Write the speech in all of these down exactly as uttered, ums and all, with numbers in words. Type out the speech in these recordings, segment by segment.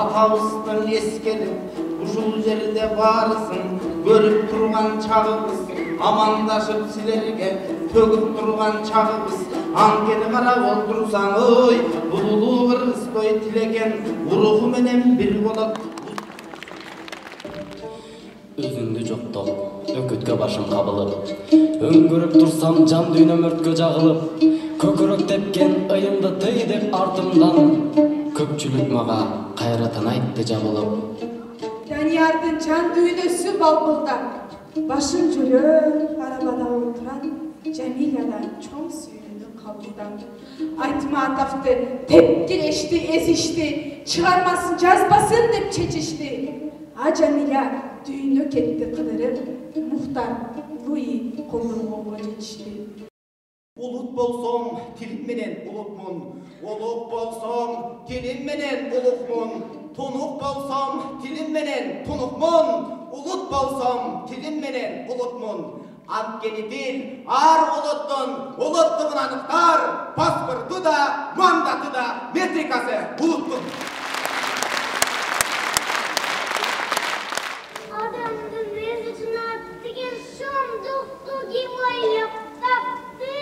атабыздын эскерип ушул жерде баарысын көрүп турган чагыбыз, амандашып силерге төгүп турган чагыбыз. Анткени карап олтурсаң, ой, бул улуу Кыргызбай тилеген уруху менен бир болот. Өзүңдү жоктоп, өкүткө башым кабылып, өңгөрүп турсам жан дүйнөм өрткө жагылып, көкөрөк тепкен ыйымды тый деп артымдан көпчүлүк мага кайрадан айтты жабылып. Даниярдын жан дүйнөсү балкылдап, башын жүрөп арабада отурат, Жамилядан чоң сүйүүнү кабылдан. Айтматовду тепкирешти, эзишти, чыгармасын жазбасын деп чечишти. А Жамиля дүйнө кетти кыдырып, Мухтар Луи колдонгонго жетишти. Улут болсом тилим менен улутмун, улук болсом тилим менен улукмун, тунук болсом тилим менен тунукмун, улут болсом тилим менен улутмун. Анткени дил ар улуттун улуттугун аныктар, паспорту да, мандаты да, метрикасы улуттун. Адамдын өзүнүн аты деген шоңдукту ким ойлоп тапты?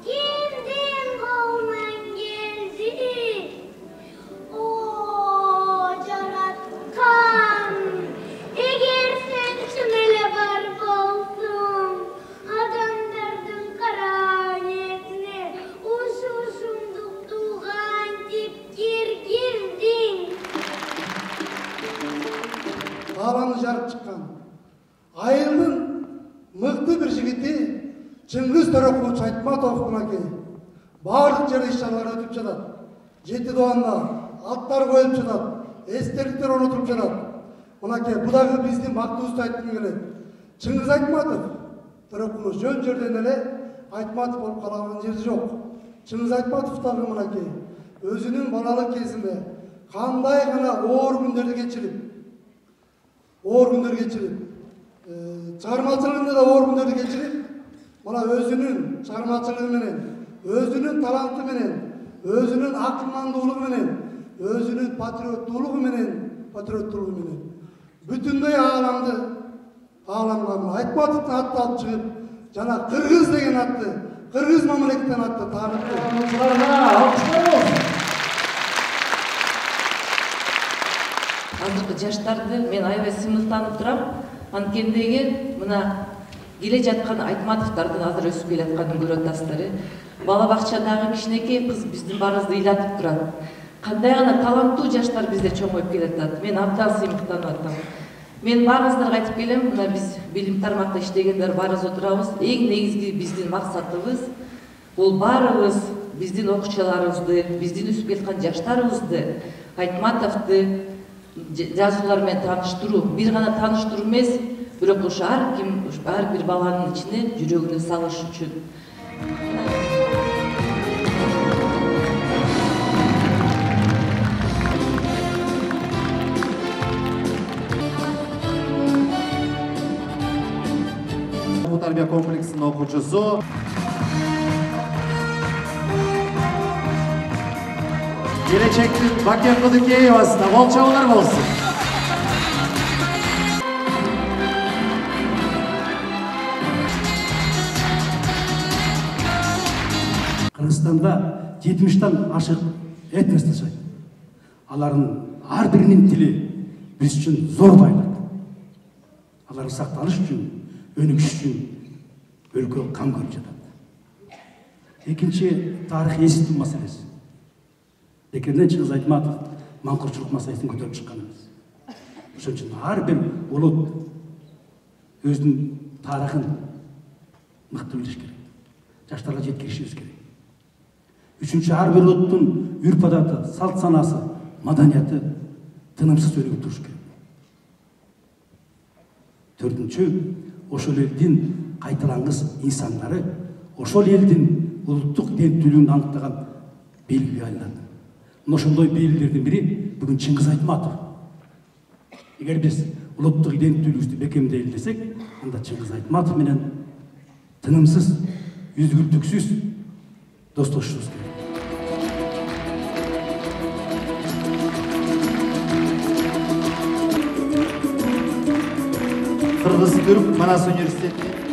Кимдин колунан келди? О, жараткан, эгер сен чын эле бар болсоң, адамдардын кара ниетине ушул шоңдукту кантип киргиздиң? Аланы жарып чыккан айылдын мыкты бир жигити Чыңгыз Төрөкулович Айтматов мынакей баардык жерде иш-чаралар өтүп жатат. Жети доанда аттар коюп жатат, эстеликтер орнотулуп жатат. Мынакей бу дагы биздин бактыбызды айткым келет. Чыңгыз Айтматов Төрөкулович жөн жерден эле Айтматов болуп калаган жери жок. Чыңгыз Айтматов дагы мынакей өзүнүн балалык кезинде кандай гана оор күндөрдү кечирип, оор күндөр кечирип, чыгармачылыгында да оор күндөрдү кечирип, мына өзүнүн чыгармачылыгы менен, өзүнүн таланты менен, өзүнүн акылмандуулугу менен, өзүнүн патриоттуулугу менен, патриоттуулугу менен бүтүндөй ааламды ааламга Айтматовдун атын алып чыгып, жана Кыргыз деген атты, Кыргыз мамлекетинен атты таанытты. Азыркы жаштарды мен аябай сыймыктанып турам. Анткендеги мына келе жаткан Айтматовдордун азыр өсүп келатканын көрүп атасыздар. Бала бакчадагы кичинекей кыз биздин баарыбызды ыйлатып турат. Кандай гана таланттуу жаштар бизде чоңоюп келатат. Мен абдан сыймыктанып атам. Мен баарыңыздарга айтып келем, мына биз билим тармакта иштегендер баарыбыз отурабыз. Эң негизги биздин максатыбыз бул баарыбыз биздин окуучуларыбызды, биздин өсүп келаткан жаштарыбызды Айтматовду жазуулар менен тааныштыруу. Бир гана тааныштыруу эмес, бирок ушу ар ким, ар бир баланын ичине жүрөгүнө салыш үчүн. Бул тарбия комплексинин окуучусу. Келечектин Бакен Кудыкеевасына кол чабуулар болсун. Кыргызстанда жетимиштен ашык этнос жашайт. Алардын ар биринин тили биз үчүн зор байлык. Алар сакталыш үчүн, өнүгүш үчүн өлкө кам көрүп жатат. Экинчи тарых эситүү маселеси. Бекерден Чыңгыз Айтматов маңкурчулук маселесин көтөрүп чыккан эмес. Ошон үчүн ар бир улут өзүнүн тарыхын мыкты билиш керек. Жаштарга жеткиришибиз керек. Үчүнчү, ар бир улуттун үрп адаты, салт санасы, маданияты тынымсыз өнүгүп туруш керек. Төртүнчү, ошол элдин кайталангыс инсандары ошол элдин улуттук иденттүүлүгүн аныктаган белгиге айланат. Ошондой белгилердин бири бүгүн Чыңгыз Айтматов. Эгер биз улуттук иденттүүлүгүбүздү бекемдейли десек, анда Чыңгыз Айтматов менен тынымсыз, үзгүлтүксүз достошубуз керек. Кыргыз Түрк Манас университети